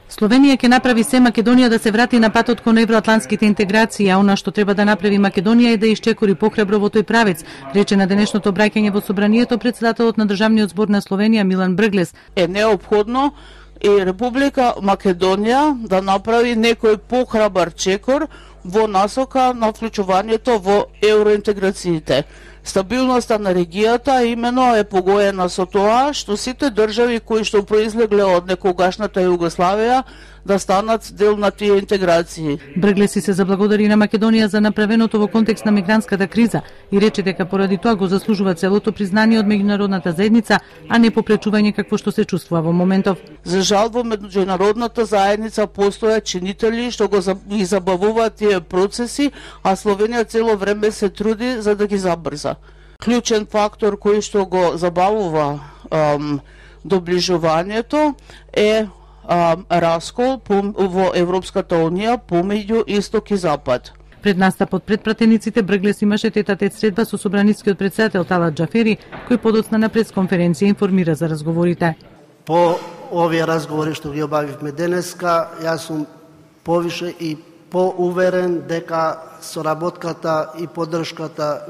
Словенија ќе направи се Македонија да се врати на патот кон евроатлантските интеграции, а она што треба да направи Македонија е да исчекори похрабро во тој правец, рече на денешното обраќање во собранието председателот на Државниот збор на Словенија Милан Брглес. Е неопходно и Република Македонија да направи некој похрабар чекор во насока на вклучувањето во евроинтеграциите. Стабилноста на регијата имено е погоена со тоа што сите држави кои што произлегле од некогашната Југославија да станат дел на тие интеграции. Брглеси се заблагодари на Македонија за направеното во контекст на мигрантската криза и рече дека поради тоа го заслужува целото признание од меѓународната заедница, а не попречување какво што се чувствува во моментов. За жал во меѓународната заедница постојат чинители што ги забавуваат тие процеси, а Словенија цело време се труди за да ги забрза. Клучен фактор кој што го забавува доближувањето е раскол во Европската Унија помеѓу Исток и Запад. Пред настапот пред пратениците Брглес имаше тет-а-тет средба со собранискиот председател Талат Џафери, кој подоцна на пресконференција информира за разговорите. По овие разговори што ги обавивме денеска, јас сум повише и поуверен дека соработката и поддршката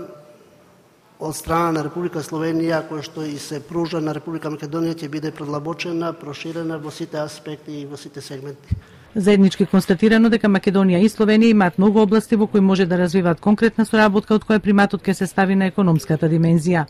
од страна на Република Словенија, која што и се пружа на Република Македонија, ќе биде предлабочена, проширена во сите аспекти и во сите сегменти. Заеднички констатирано дека Македонија и Словенија имаат многу области во кои може да развиваат конкретна соработка, од која приматот ќе се стави на економската димензија.